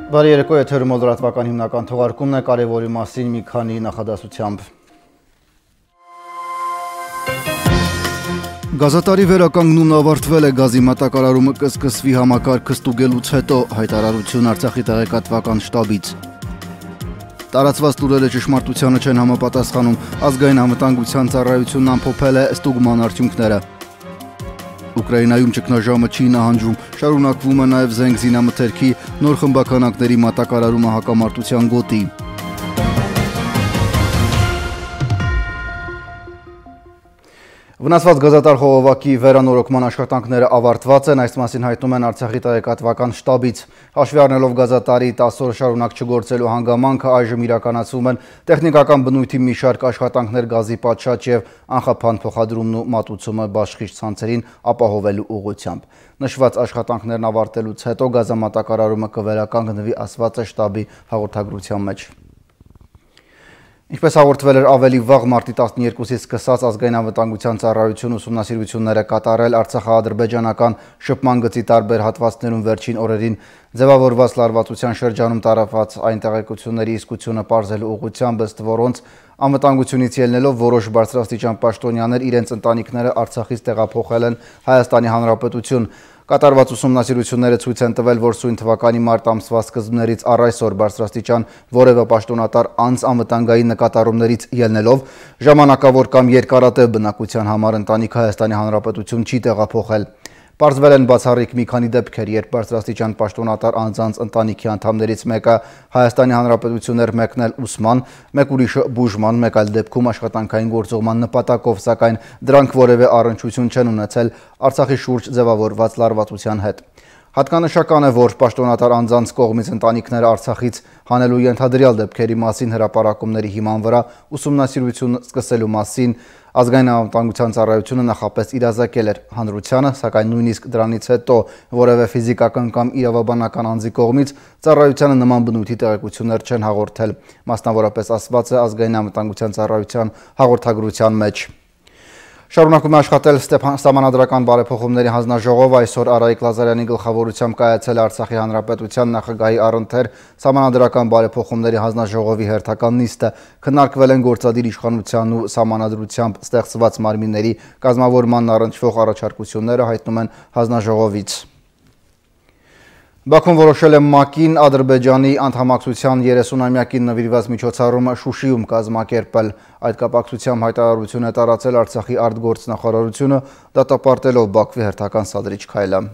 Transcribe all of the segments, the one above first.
Բարի երեկո, եթերում լրատվական հիմնական թողարկումն է, կարևորի մասին մի քանի նախադասությամբ։ Գազատարի վերականգնումն ավարտվել է, գազի մատակարարումը կսկսվի համակարգը ստուգելուց հետո, հայտարարություն Արցախի տեղեկատվական շտաբից։ Տարածված լուրերը ճշմարտությանը չեն համապատասխանում, ազգային անվտանգության ծառայությունն ամփոփել է ստուգման արդյունքները։ Ուկրաինայում ճգնաժամը չի նահանջում, շարունակվում է նաև զենք զինամթերքի նոր խմբականակների մատակարարումը հակամարտության գոտի։ Վնասված գազատար խողովակի վերանորոգման աշխատանքները ավարտված են, այս մասին հայտնում են Արցախի տեղեկատվական շտաբից։ Հաշվի առնելով գազատարի 10 օր շարունակ չգործելու հանգամանքը, այժմ իրականացվում են տեխնիկական բնույթի մի շարք աշխատանքներ գազի պատշաճ եւ անխափան փոխադրումն ու մատուցումը բաշխիչ ցանցերին ապահովելու ուղղությամբ։ Նշված աշխատանքներն ավարտելուց հետո գազամատակարարումը կվերականգնվի, ասված է շտաբի հաղորդագրության մեջ։ Ինչպես հաղորդվել էր ավելի վաղ մարտի 12-ից սկսած ազգային անվտանգության ծառայություն ուսումնասիրություններ է կատարել արցախա-ադրբեջանական շփման գծի տարբեր հատվածներում վերջին օրերին ձևավորված լարվածության շրջանում տարածված այն տեղեկությունների իսկությունը պարզելու ուղղությամբ, ըստ որոնց անվտանգությունից ելնելով որոշ բարձրաստիճան պաշտոնյաներ իրենց ընտանիքները Արցախից տեղափոխել են Հայաստանի Հանրապետություն։ Կատարված ուսումնասիրությունները ցույց են տվել, որ սույն թվականի մարտ ամսվա սկզբներից առ այսօր բարձրաստիճան որևէ պաշտոնատար անձ անվտանգային նկատառումներից ելնելով ժամանակավոր կամ երկարատև բնակության համար ընտանիք Հայաստանի Հանրապետություն չի տեղափոխել։ Պարզվել են բացառիկ մի քանի դեպքեր, երբ բարձրաստիճան պաշտոնատար անձանց ընտանիքի անդամներից մեկը Հայաստանի Հանրապետություն էր մեկնել ուսման, մեկ ուրիշը բուժման, մեկ այլ դեպքում աշխատանքային գործողման նպատակով, սակայն դրանք որևէ առնչություն չեն ունեցել Արցախի շուրջ ձևավորված լարվածության հետ։ Հատկանշական է, որ պաշտոնատար անձանց կողմից ընտանիքները Արցախից հանելու ենթադրյալ դեպքերի մասին հրապարակումների հիման վրա ուսումնասիրություն սկսելու մասին ազգային անվտանգության ծառայությունը նախապես իրազեկել էր հանրությանը, սակայն նույնիսկ դրանից հետո որևէ ֆիզիկական կամ իրավաբանական անձի կողմից ծառայությանը նման բնույթի տեղեկություններ չեն հաղորդել, մասնավորապես ասված է ազգային անվտանգության ծառայության հաղորդագրության մեջ։ Շարունակում է աշխատել Սահմանադրական բարեփոխումների հանձնաժողով, այսօր Արայիկ Լազարյանի գլխավորությամբ կայացել Արցախի Հանրապետության նախագահի առընթեր Սահմանադրական բարեփոխումների հանձնաժողովի հերթական նիստը, քննարկվել են գործադիր իշխանության ու սահմանադրությամբ ստեղծված մարմինների կազմավորմանն առնչվող առաջարկությունները, հայտնում են հանձնաժողովից։ Բաքուն որոշել է ՄԱԿ-ին Ադրբեջանի անդամակցության 30-ամյակին նվիրված միջոցառումը Շուշիում կազմակերպել։ Այդ կապակցությամբ հայտարարություն է տարածել Արցախի արտգործնախարարությունը, դատապարտելով Բաքվի հերթական սադրիչ քայլը։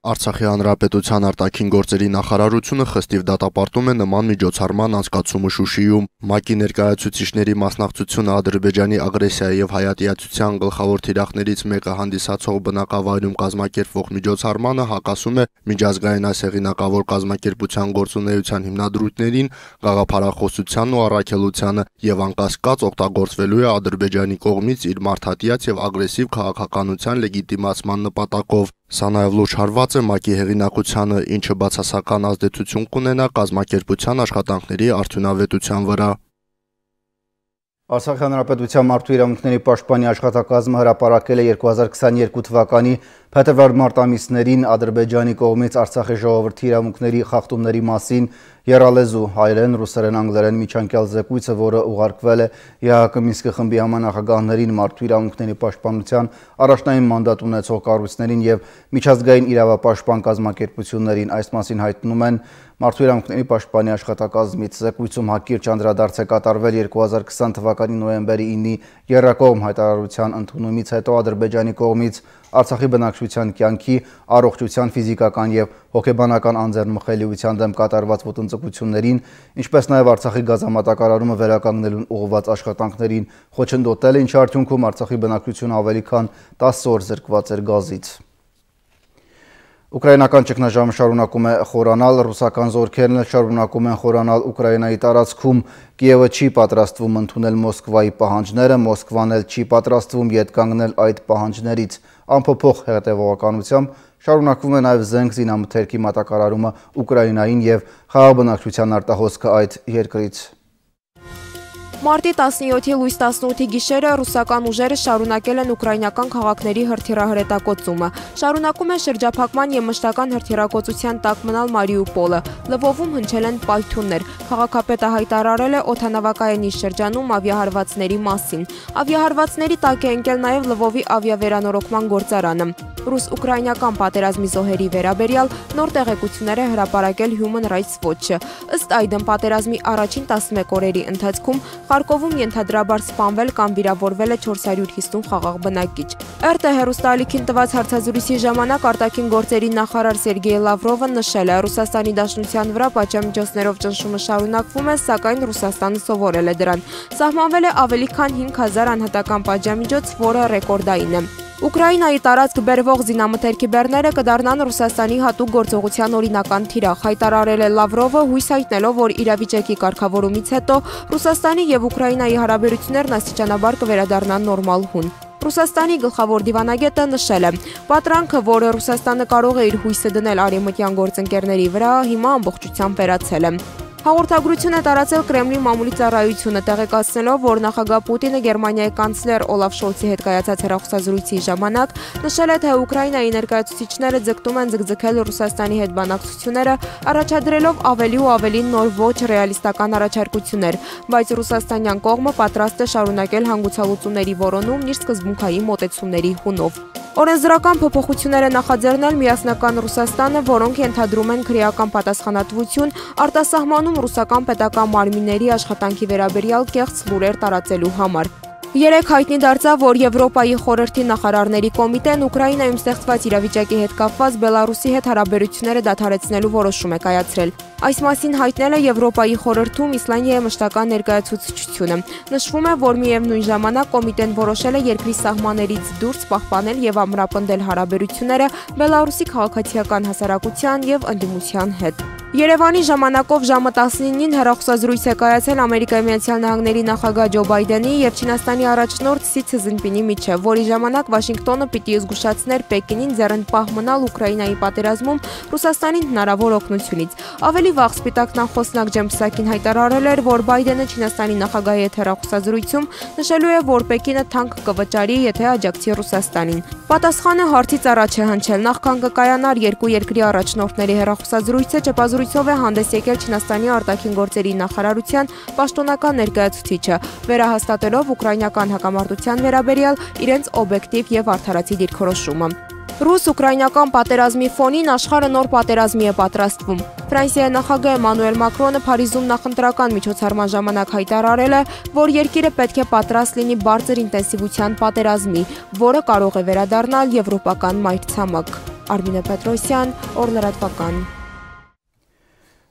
Արցախի Հանրապետության արտաքին գործերի նախարարությունը խստիվ դատապարտում է նման միջոցառման անցկացումը Շուշիում։ ՄԱԿ-ի ներկայացուցիչների մասնակցությունը Ադրբեջանի ագրեսիայի եւ հայատյացության գլխավոր թիրախներից մեկը հանդիսացող բնակավայրում կազմակերպվող միջոցառմանը հակասում է միջազգային այս հեղինակավոր կազմակերպության գործունեության հիմնադրույթներին, գաղափարախոսությանն ու առաքելությանը եւ անկասկած օգտագործվելու է Ադրբեջանի կողմից իր մարդատիաց եւ ագրեսիվ քաղաքականության լեգիտիմացման նպատակով։ Սա նաև լուրջ հարված է ՄԱԿ-ի հեղինակությանը, ինչը բացասական ազդեցություն կունենա կազմակերպության աշխատանքների արդյունավետության վրա։ Արցախի Հանրապետության մարդու իրավունքների պաշտպանի աշխատակազմը հրապարակել է 2022 թվականի փետրվար-մարտ ամիսներին Ադրբեջանի կողմից Արցախի ժողովրդի իրավունքների խախտումների մասին եռալեզու հայերեն, ռուսերեն, անգլերեն միջանկյալ զեկույցը, որը ուղարկվել է ԵԱՀԿ Մինսկի խմբի համանախագահներին, մարդու իրավունքների պաշտպանության առաջնային մանդատ ունեցող կառույցներին եւ միջազգային իրավապաշտպան կազմակերպություններին։ Այս մասին հայտնում են Մարդու իրավունքների պաշտպանի աշխատակազմից։ Զեկույցում հակիրճ անդրադարձ է կատարվել 2020 թվականի նոյեմբերի 9-ի եռակողմ հայտարարության ընդունումից հետո Ադրբեջանի կողմից Արցախի բնակչության կյանքի, առողջության, ֆիզիկական եւ հոգեբանական անձեռնմխելիության դեմ կատարված ոտնձգություններին, ինչպես նաեւ Արցախի գազամատակարարումը վերականգնելուն ուղղված աշխատանքներին, խոչընդոտել է, ինչի արդյունքում Արցախի բնակչությունը ավելի քան 10 օր զրկված էր գազից։ Ուկրաինական ճգնաժամը շարունակում է խորանալ, ռուսական զորքերն էլ շարունակում են խորանալ Ուկրաինայի տարածքում։ Կիևը չի պատրաստվում ընդունել Մոսկվայի պահանջները, Մոսկվան էլ չի պատրաստվում ետ կանգնել այդ պահանջներից։ Անփոփոխ հետևողականությամբ շարունակվում է նաև զենք զինամթերքի մատակարարումը Ուկրաինային եւ խաղաղ բնակչության արտահոսքը այդ երկրից։ Մարտի 17-ի լույս 18-ի գիշերը ռուսական ուժերը շարունակել են ուկրաինական քաղաքների հրթիռահրետակոծումը։ Շարունակում է շրջափակման և մշտական հրթիռակոծության տակ մնալ Մարիուպոլը։ Լվովում հնչել են պայթյուններ։ Քաղաքապետը հայտարարել է օդանավակայանի շրջանում ավիահարվածների մասին։ Ավիահարվածների տակ է ընկել նաև Լվովի ավիավերանորոգման գործարանը։ Ռուս-ուկրաինական պատերազմի զոհերի վերաբերյալ նոր տեղեկություններ է հրապարակել Human Rights Watch-ը։ Ըստ այդմ պատերազմի առաջին 11 օրերի ընթացքում Խարկովում ենթադրաբար սպանվել կամ վիրավորվել է 450 խաղաղ բնակիչ։ ՌՏ հեռուստաալիքին տված հարցազրույցի ժամանակ արտաքին գործերի նախարար Սերգեյ Լավրովը նշել է, Ռուսաստանի Դաշնության վրա պատժամիջոցներով ճնշումը շարունակվում է, սակայն Ռուսաստանը սովորել է դրան։ Սահմանվել է ավելի քան 5000 անհատական պատժամիջոց, որը ռեկորդային է։ Ուկրաինայի տարածք բերվող զինամթերքի բեռները կդառնան Ռուսաստանի հատուկ գործողության օրինական թիրախ, հայտարարել է Լավրովը, հույս հայտնելով, որ իրավիճակի կարգավորումից հետո Ռուսաստանի և Ուկրաինայի հարաբերություններն աստիճանաբար կվերադառնան նորմալ հուն։ Ռուսաստանի գլխավոր դիվանագետը նշել է. «Պատրանքը, որը Ռուսաստանը կարող է իր հույսը դնել արևմտյան գործընկերների վրա, հիմա ամբողջությամբ վերացել է»։ Հաղորդագրություն է տարածել Կրեմլի մամուլի ծառայությունը, տեղեկացնելով, որ նախագահ Պուտինը Գերմանիայի կանցլեր Օլաֆ Շոլցի հետ կայացած հեռախոսազրույցի ժամանակ նշել է, թե Ուկրաինայի ներկայացուցիչները ձգտում են ձգձգել Ռուսաստանի հետ բանակցությունները, առաջադրելով ավելի ու ավելի նոր ոչ ռեալիստական առաջարկություններ, բայց ռուսաստանյան կողմը պատրաստ է շարունակել հանգուցալուծումների որոնումն իր սկզբունքային մոտեցումների հունով։ Օրենսդրական փոփոխություններ է նախաձեռնել միասնական Ռուսաստանը, որոնք ենթադրում են քրեական պատասխանատվություն, արտասահմանում ռուսական պետական մարմինների աշխատանքի վերաբերյալ կեղծ լուրեր տարածելու համար։ Երեկ հայտնի դարձավ, որ Եվրոպայի խորհրդի նախարարների կոմիտեն Ուկրաինայում ստեղծված իրավիճակի հետ կապված Բելարուսի հետ հարաբերությունները դադարեցնելու որոշում է կայացրել։ Այս մասին հայտնել է Եվրոպայի խորհրդում Իսլանդիայի մշտական ներկայացուցչությունը։ Նշվում է, որ միևնույն ժամանակ կոմիտեն որոշել է երկրի սահմաններից դուրս պահպանել եւ ամրապնդել հարաբերությունները Բելարուսի քաղաքացիական հասարակության եւ ընդդիմության հետ։ Երևանի ժամանակով ժամը 19-ին հեռախոսազրույց է կայացել Ամերիկայի Միացյալ Նահանգների նախագահ Ջո Բայդենի եւ Չինաստանի առաջնորդ Սի Ցզինպինի միջև, որի ժամանակ Վաշինգտոնը պիտի զգուշացներ Պեկինին ձեռնպահ մնալ Ուկրաինայի պատերազմում Ռուսաստանին հնարավոր օգնությունից։ Ավելի վաղ Սպիտակ նախոսնակ Ջեմ Պսակին հայտարարել էր, որ Բայդենը Չինաստանի նախագահի հետ հեռախոսազրույցում նշելու է, որ Պեկինը թանկ կվճարի, եթե աջակցի Ռուսաստանին։ Պատասխանը հարցից առաջ է հնչել, նախքան կկայանար երկու երկրի առաջնորդների հեռախոսազրույցը, ճեպազրույցով է հանդես եկել Չինաստանի արտաքին գործերի նախարարության պաշտոնական ներկայացուցիչը, վերահաստատելով ուկրաինական հակամարտության վերաբերյալ իրենց օբյեկտիվ եւ արդարացի դիրքորոշումը։ Ռուս-ուկրաինական պատերազմի ֆոնին աշխարհը նոր պատերազմի է պատրաստվում։ Ֆրանսիայի նախագահ Էմանուել Մակրոնը Փարիզում նախընտրական միջոցառման ժամանակ հայտարարել է, որ երկիրը պետք է պատրաստ լինի բարձր ինտենսիվության պատերազմի, որը կարող է վերադառնալ եվրոպական մայրցամաք։ Արմինե Պետրոսյան, Օրլրատվական։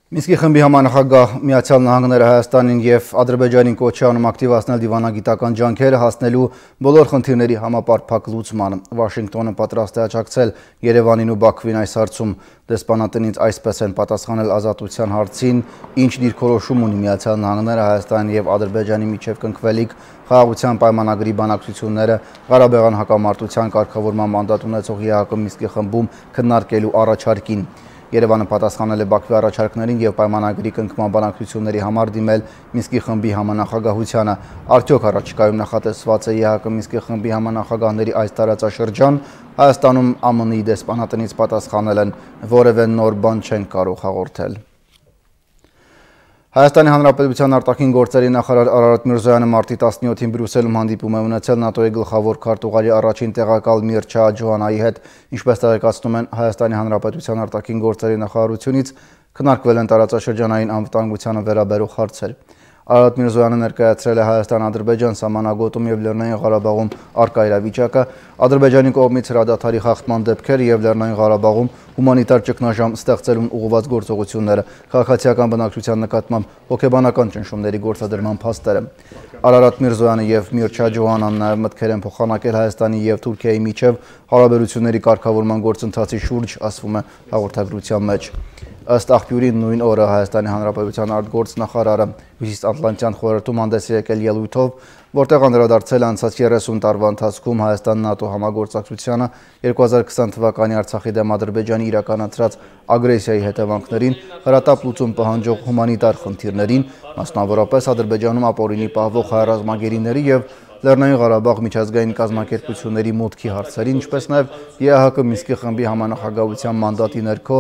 Մինսկի խմբի համանախագահ Միացյալ Նահանգները Հայաստանին եւ Ադրբեջանին կոչ է անում ակտիվացնել դիվանագիտական ջանքերը հասնելու բոլոր խնդիրների համապարփակ լուծմանը։ Վաշինգտոնը պատրաստ է աջակցել Երևանին ու Բաքվին այս հարցում։ Դեսպանատնից այսպես են պատասխանել ազատության հարցին, ինչ դիրքորոշում ունի Միացյալ Նահանգները Հայաստանի եւ Ադրբեջանի միջև կնքվելիք խաղաղության պայմանագրի բանակցությունները Ղարաբաղյան հակամարտության կարգավորման մանդատ ունեցող ԵԱՀԿ Մինսկի խմբում քննարկելու առաջարկին։ Երևանը պատասխանել է Բաքվի առաջարկներին եւ պայմանագրի կնքման բանակցությունների համար դիմել Մինսկի խմբի համանախագահությանը։ Արդյոք առաջիկայում նախատեսված է ԵԱՀԿ Մինսկի խմբի համանախագահների այս տարածաշրջան, Հայաստանում ԱՄՆ-ի դեսպանատնից պատասխանել են, որևէ նոր բան չեն կարող հաղորդել։ Հայաստանի Հանրապետության արտաքին գործերի նախարար Արարատ Միրզոյանը մարտի 17-ին Բրյուսելում հանդիպում է ունեցել ՆԱՏՕ-ի գլխավոր քարտուղարի առաջին տեղակալ Միրչա Ջոհանայի հետ, ինչպես տեղեկացնում են Հայաստանի Հանրապետության արտաքին գործերի նախարարությունից, քննարկվել են տարածաշրջանային անվտանգությանը վերաբերող հարցեր։ Արարատ Միրզոյանը ներկայացրել է Հայաստան-Ադրբեջան սահմանագոտում եւ Լեռնային Ղարաբաղում առկա իրավիճակը, Ադրբեջանի կողմից հրադադարի խախտման դեպքերը եւ Լեռնային Ղարաբաղում հումանիտար ճգնաժամ ստեղծելուն ուղղված գործողությունները, քաղաքացիական բնակչության նկատմամբ հոգեբանական ճնշումների գործադրման փաստերը։ Արարատ Միրզոյանը եւ Միրչա Ջոհանան նաեւ մտքեր են փոխանակել Հայաստանի եւ Թուրքիայի միջև հարաբերությունների կարգավորման գործընթացի շուրջ, ասվում է հաղորդագրության մեջ։ Ըստ աղբյուրի նույն օրը Հայաստանի Հանրապետության արտգործնախարարը Հյուսիսատլանտյան խորհրդում հանդես է եկել ելույթով, որտեղ անդրադարձել անցած 30 տարվա ընթացքում Հայաստան-ՆԱՏՕ համագործակցությանը 2020 թվականի Արցախի դեմ Ադրբեջանի իրականացրած ագրեսիայի հետևանքներին, հրատապ լուծում պահանջող հումանիտար խնդիրներին, մասնավորապես Ադրբեջանում ապօրինի պահվող հայ ռազմագերիների և Լեռնային Ղարաբաղ միջազգային կազմակերպությունների մուտքի հարցերին, ինչպես նաև ԵԱՀԿ Մինսկի խմբի համանախագահության մանդատի ներքո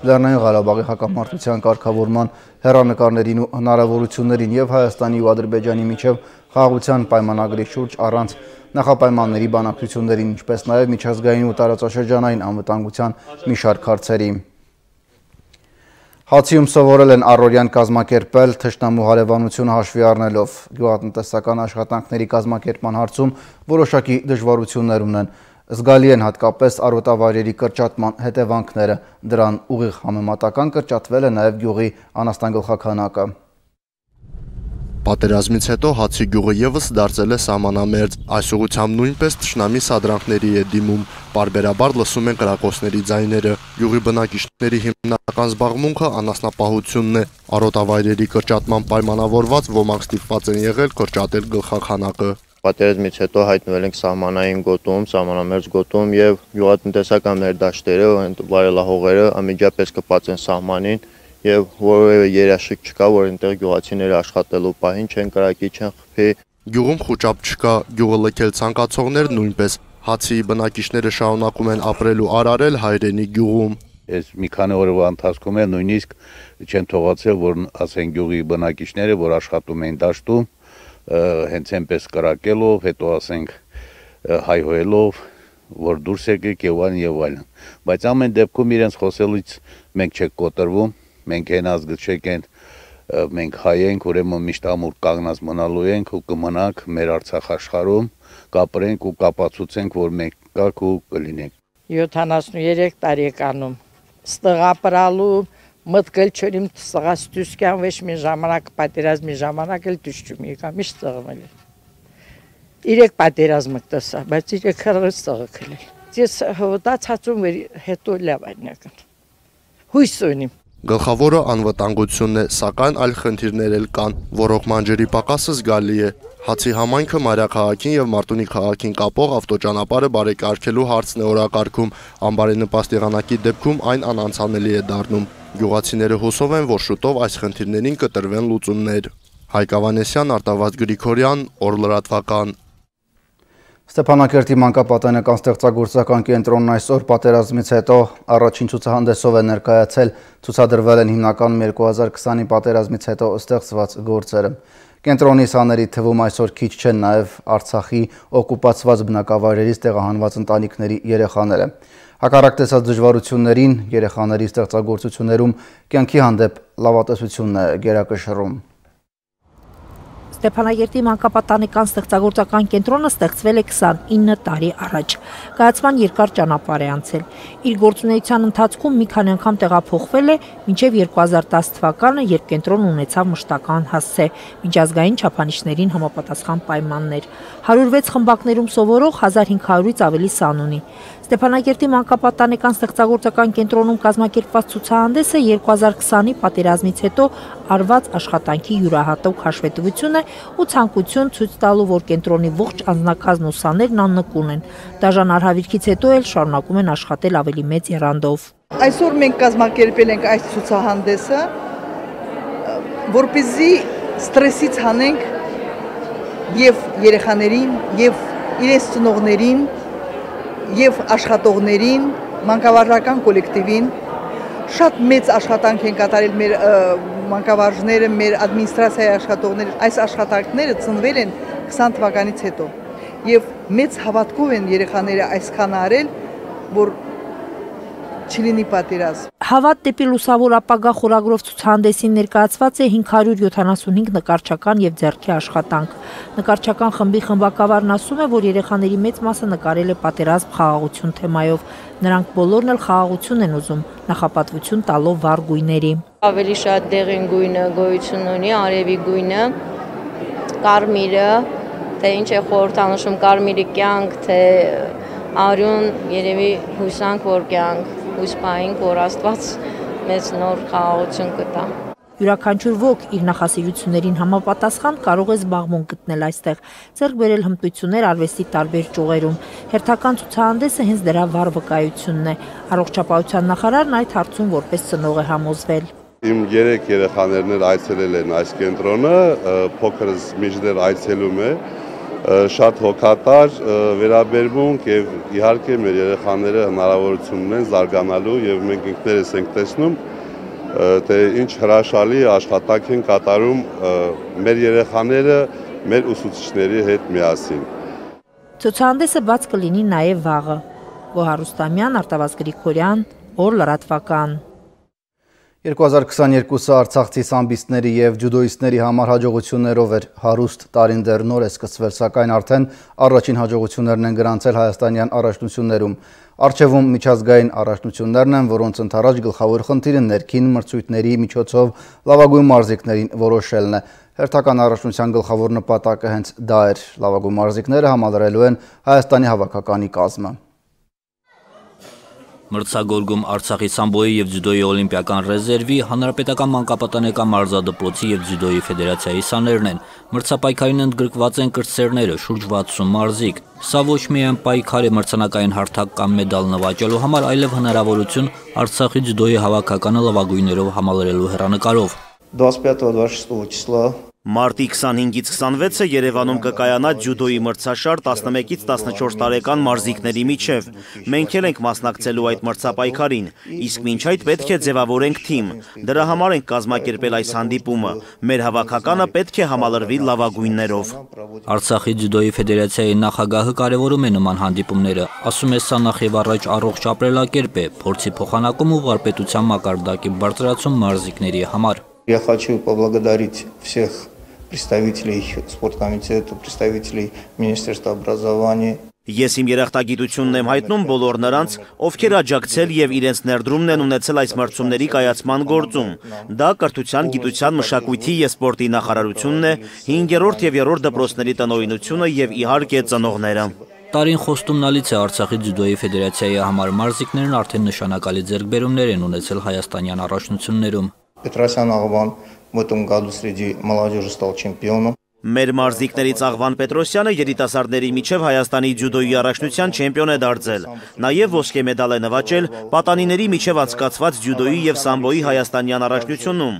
Լեռնային Ղարաբաղի հակամարտության կարգավորման հեռանկարներին ու հնարավորություններին և Հայաստանի ու Ադրբեջանի միջև խաղաղության պայմանագրի շուրջ առանց նախապայմանների բանակցություններին, ինչպես նաև միջազգային ու տարածաշրջանային անվտանգության մի շարք հարցերի։ Հացիում սովորել են առօրյան կազմակերպել թշնամու հարևանությունը հաշվի առնելով, գյուղատնտեսական աշխատանքների կազմակերպման հարցում որոշակի դժվարություններ ունեն, զգալի են հատկապես արոտավայրերի կրճատման հետևանքները, դրան ուղիղ համեմատական կրճատվել է նաև գյուղի անասնագլխաքանակը։ Պատերազմից հետո Հացի գյուղը ևս դարձել է սահմանամերձ, այս ուղղությամբ նույնպես թշնամի սադրանքների է դիմում, պարբերաբար լսում են կրակոցների ձայները, գյուղի բնակիչների հիմնական զբաղմունքը անասնապահությունն է, արոտավայրերի կրճատման պայմանավորված ոմանք ստիպված են եղել կրճատել գլխաքանակը։ Պատերազմից հետո հայտնվել ենք սահմանային գոտում, սահմանամերձ գոտում եւ գյուղատնտեսական մեր դաշտերը, վայրելահողերը անմիջապես կպած են սահմանին եւ որևէ երաշխիք չկա, որ այնտեղ գյուղացիները աշխատելու պահին չեն կրակի, չեն խփի։ Գյուղում խոճապ չկա, գյուղը լքել ցանկացողներ նույնպես, Հացի բնակիչները շարունակում են ապրել ու արարել հայրենի գյուղում։ Այս մի քանի օրվա ընթացքում է նույնիսկ չեն թողացել, որ ասեն գյուղի բնակիչները, որ աշխատում են դաշտում, հենց այնպես կրակելով, հետո ասենք հայհոյելով, որ դուրս եկեք եւ այլն։ Բայց ամեն դեպքում իրենց խոսելուց մենք չենք կոտրվում, մենք այն ազգչեք են, մենք հայ ենք, ուրեմն միշտ ամուր կանգնած մնալու ենք ու կմնանք մեր Արցախ աշխարհում, կապրենք ու կապացուցենք, որ մենք կաք ու կլինենք։ 73 տարեկանում ստղապրալու մտքել չորիմ ստղաս դուսկյան վեշ մի ժամանակ պատերազմի ժամանակ էլ դուշում եկա միշտ ստղմել։ 3 պատերազմը տեսա, բայց 3 քառը ստղքել։ Ես հոտացածում հետո լավ այնական։ Հույս ունիմ։ Գլխավորը անվտանգությունն է, սակայն այլ խնդիրներ էլ կան, ոռոգման ջրի պակասը զգալի է։ Հացի համայնքը մայրաքաղաքին եւ Մարտունի քաղաքին կապող ավտոճանապարհը բարեկարգելու հարցն է օրակարգում, անբարենպաստ եղանակի դեպքում այն անանցանելի է դառնում։ Գյուղացիները հուսով են, որ շուտով այս խնդիրներին կտրվեն լուծումներ։ Հայկ Ավանեսյան, Արտավազդ Գրիգորյան, Օրլրատվական։ Ստեփանակերտի մանկապատանեկան ստեղծագործական կենտրոնն այսօր պատերազմից հետո առաջին ցուցահանդեսով է ներկայացել, ցուցադրվել են հիմնականում 2020-ի պատերազմից հետո ստեղծված գործերը։ Կենտրոնի սաների թվում այսօր քիչ չեն նաև Արցախի օկուպացված բնակավայրերից տեղահանված ընտանիքների երեխաները։ Հակառակ տեսած դժվարություններին երեխաների ստեղծագործություններում կյանքի հանդեպ լավատեսությունն է գերակշռում։ Ստեփանագերտի մանկապատանեկան ստեղծագործական կենտրոնը ստեղծվել է 29 տարի առաջ։ Կայացման երկար ճանապարհ է անցել։ Իր գործունեության ընթացքում մի քանի անգամ տեղափոխվել է, մինչև 2010 թվականը, երբ կենտրոնը ունեցավ մշտական հասցե, միջազգային չափանիշներին համապատասխան պայմաններ։ 106 խմբակներում սովորող 1500-ից ավելի սան ունի։ Ստեփանագերտի մանկապատանեկան ստեղծագործական կենտրոնում կազմակերպված ցուցահանդեսը 2020-ի պատերազմից հետո արված աշխատանքի յուրահատուկ հաշվետվություն է ու ցանկություն ցույց տալու, որ կենտրոնի ողջ անձնակազմն ու սաներն աննկուն են։ Դաժան արհավիրքից հետո էլ շարունակում են աշխատել ավելի մեծ եռանդով։ Այսօր մենք կազմակերպել ենք այս ցուցահանդեսը, որպեսզի ստրեսից հանենք եւ երեխաներին, եւ իրենց ծնողներին, եւ աշխատողներին, մանկավարժական կոլեկտիվին շատ մեծ աշխատանք են կատարել մեր մանկավարժները, մեր ադմինիստրացիայի աշխատողները։ Այս աշխատանքները ծնվել են 20 թվականից հետո եւ մեծ հավատքով են երեխաները այսքան արել, որ չլինի պատերազմ։ Հավատ դեպի լուսավոր ապագա խորագրով ցուցահանդեսին ներկայացված է 575 նկարչական եւ ձեռքի աշխատանք։ Նկարչական խմբի խմբակավարն ասում է, որ երեխաների մեծ մասը նկարել է պատերազմ խաղաղություն թեմայով։ Նրանք բոլորն էլ խաղաղություն են ուզում, նախապատվություն տալով վառ գույների։ Ավելի շատ դեղին գույնը գոյություն ունի, արևի գույնը, կարմիրը, թե ինչ է խորհրդանշում կարմիրի կյանք, թե արյուն, երևի հուսանք, որ կյանք, հույս պահենք, որ Աստված մեծ նոր խաղաղություն կտա։ Յուրաքանչյուր ոք իր նախասիրություններին համապատասխան կարող է զբաղմունք գտնել այստեղ, ձեռք բերել հմտություններ արվեստի տարբեր ճյուղերում։ Հերթական ցուցահանդեսը հենց դրա վառ վկայությունն է։ Առողջապահության նախարարն այդ հարցում որպես ծնող է համոզվել։ Իմ 3 երեխաներն էլ այցելել են այս կենտրոնը, փոքրս միջներ այցելում է, շատ հոգատար վերաբերմունք եւ իհարկե մեր երեխաները հնարավորություն ունեն զարգանալու եւ մենք ինքներս ենք տեսնում թե ինչ հրաշալի աշխատանք են կատարում մեր երեխաները մեր ուսուցիչների հետ միասին։ Ցուցահանդեսը բաց կլինի նաև վաղը։ Գոհար Ռուստամյան, Արտավազդ Գրիգորյան, Օր լրատվական։ 2022-ը արցախցի սամբիստների և ջյուդոիստների համար հաջողություններով էր հարուստ տարին դեռ նոր է սկսվել, սակայն արդեն առաջին հաջողություններն են գրանցել հայաստանյան առաջնություններում։ Առջևում միջազգային առաջնություններն են, որոնց ընդառաջ գլխավոր խնդիրը ներքին մրցույթների միջոցով լավագույն մարզիկներին որոշելն է։ Հերթական առաջնության գլխավոր նպատակը հենց դա էր։ Լավագույն մարզիկները համալրելու են Հայաստանի հավաքականի կազմը։ Մրցակցում Արցախի սամբոյի և ձյուդոյի օլիմպիական ռեզերվի, Հանրապետական մանկապատանեկան մարզադպրոցի և ձյուդոյի ֆեդերացիայի սաներն են։ Մրցապայքարին ընդգրկված են կրտսերները, շուրջ 60 մարզիկ։ Սա ոչ միայն պայքար է մրցանակային հարթակ կամ մեդալ նվաճելու համար, այլև հնարավորություն Արցախի ձյուդոյի հավաքականը լավագույններով համալրելու հեռանկարով։ 25-26 числа Մարտի 25-ից 26-ը Երևանում կկայանա ձյուդոյի մրցաշար 11-ից 14 տարեկան մարզիկների միջև։ Մենք էլ ենք մասնակցելու այդ մրցապայքարին, իսկ մինչ այդ պետք է ձևավորենք թիմ։ Դրա համար ենք կազմակերպել այս հանդիպումը։ Մեր հավաքականը պետք է համալրվի լավագույններով։ Արցախի ձյուդոյի ֆեդերացիայի նախագահը կարևորում է նման հանդիպումները, ասում է սա նախ եւ առաջ առողջ апրելակերպ է, փորձի փոխանակում ու վարպետության մակարդակի բարձրացում մարզիկների համար։ Я хочу поблагодарить всех представителей спорткомитета, представителей Министерства образования. Ես իմ երախտագիտությունն եմ հայտնում բոլոր նրանց, ովքեր աջակցել եւ իրենց ներդրումն են ունեցել այս մրցումների կայացման գործում։ Դա կրթության, գիտության, մշակույթի եւ սպորտի նախարարությունն է, 5-րդ եւ 3-րդ դպրոցների տնօրինությունը եւ իհարկե ծնողները։ Տարին խոստումնալից է Արցախի ձյուդոյի ֆեդերացիայի համար մարզիկներն արդեն նշանակալի ձեռքբերումներ են ունեցել հայաստանյան առաջնություններում։ Петросян Աղվան в этом году среди молодежи стал чемпионом. Մեր մարզիկներից Աղվան Պետրոսյանը երիտասարդների միջև Հայաստանի ձյուդոյի առաջնության չեմպիոն է դարձել։ Նաև ոսկե մեդալ է նվաճել պատանիների միջև անցկացված ձյուդոյի եւ սամբոյի հայաստանյան առաջնությունում։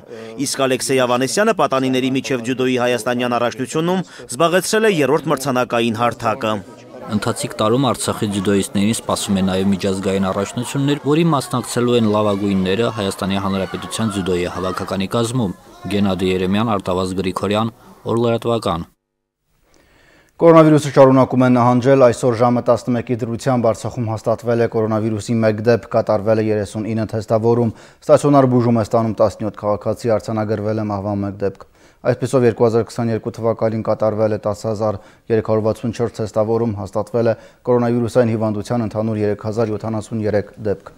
Իսկ Ալեքսեյ Ավանեսյանը պատանիների միջև ձյուդոյի հայաստանյան առաջնությունում զբաղեցրել է 3-րդ մրցանակային հարթակը։ Ընթացիկ տարում Արցախի ձյուդոիստներին սպասում է նաև միջազգային առաջնություններ, որի մասնակցելու են լավագույնները Հայաստանի Հանրապետության ձյուդոյի հավաքականի կազմում։ Գենադի Երեմյան, Արտավազդ Գրիգորյան, Օր լրատվական։ Կորոնավիրուսը շարունակում է նահանջել, այսօր ժամը 11-ի դրությամբ Արցախում հաստատվել է կորոնավիրուսի 1 դեպք, կատարվել է 39 թեստավորում, ստացիոնար բուժում է ստանում 17 քաղաքացի, արձանագրվել է մահվան 1 դեպք։ Այսպիսով 2022 թվականին կատարվել է 10,364 թեստավորում, հաստատվել է կորոնավիրուսային հիվանդության ընդհանուր 3073 դեպք։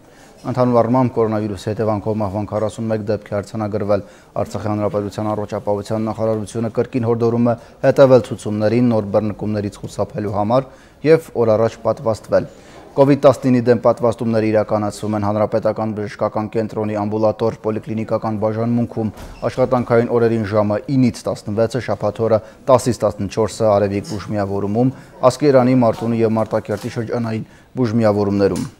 Ընդհանուր առմամբ կորոնավիրուսի հետևանքով մահվան 41 դեպք է արձանագրվել։ Արցախի հանրապետության առողջապահության նախարարությունը կրկին հորդորում է հետևել ցուցումներին, նոր բռնկումներից խուսափելու համար եւ օր առաջ պատվաստվել։ COVID-19-ի դեմ պատվաստումները իրականացվում են Հանրապետական բժշկական կենտրոնի ամբուլատոր պոլիկլինիկական բաժանմունքում, աշխատանքային օրերին ժամը 9-ից 16-ը, շաբաթ օրը 10-ից 14-ը Արևիկ բուժմիավորումում, Ասկերանի, Մարտունի եւ Մարտակերտի շրջանային բուժմիավորումներում։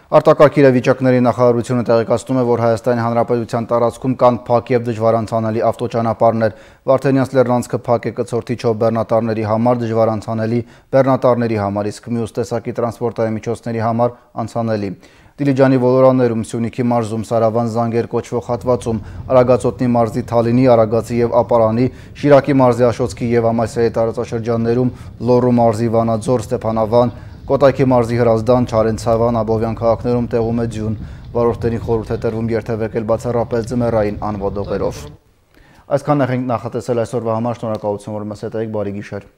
Արտակարգ իրավիճակների նախարարությունը տեղեկացնում է, որ Հայաստանի Հանրապետության տարածքում կան փակ եւ դժվարանցանելի ավտոճանապարհներ։ Վարդենյանց լեռնանցքը փակ է կցորդիչով բեռնատարների համար, դժվարանցանելի բեռնատարների համար, իսկ մյուս տեսակի տրանսպորտային միջոցների համար անցանելի։ Դիլիջանի ոլորաններում, Սյունիքի մարզում, Սարավան Զանգեր կոչվող հատվածում, Արագածոտնի մարզի Թալինի, Արագածի եւ Ապարանի, Շիրակի մարզի Աշոտսկի եւ Ամասիայի տարածաշրջաններում, Լոռու մարզի Վանաձոր, Ստեփանավան, Կոտայքի մարզի Հրազդան, Չարենցավան, Աբովյան քաղաքներում տեղում է ձյուն, վարորդներին խորհուրդ է տրվում երթևեկել բացառապես ձմեռային անվադողերով։ Այսքանն ենք նախատեսել այսօրվա համար, շնորհակալություն, որ մեզ հետ եք, բարի գիշեր։